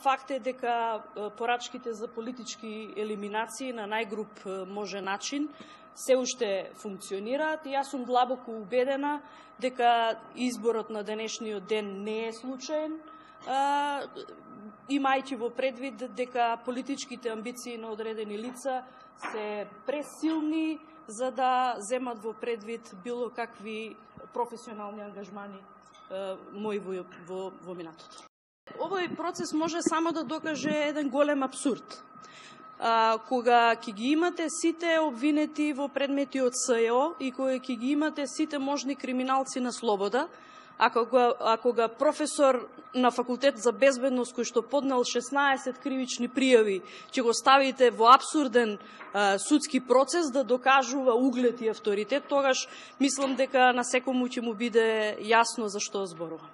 факт е дека порачките за политички елиминации на најгруп може начин се уште функционираат и јас сум длабоко убедена дека изборот на денешниот ден не е случаен, имајќи во предвид дека политичките амбиции на одредени лица се пресилни за да земат во предвид било какви професионални ангажмани мои во минатото. Овој процес може само да докаже еден голем абсурд. Кога ќе ги имате сите обвинети во предмети од СЕО и кога ќе ги имате сите можни криминалци на слобода, ако га професор на факултет за безбедност кој што поднел 16 кривични пријави, ќе го ставите во апсурден судски процес да докажува углед и авторитет, тогаш мислам дека на секому ќе му биде јасно за што зборувам.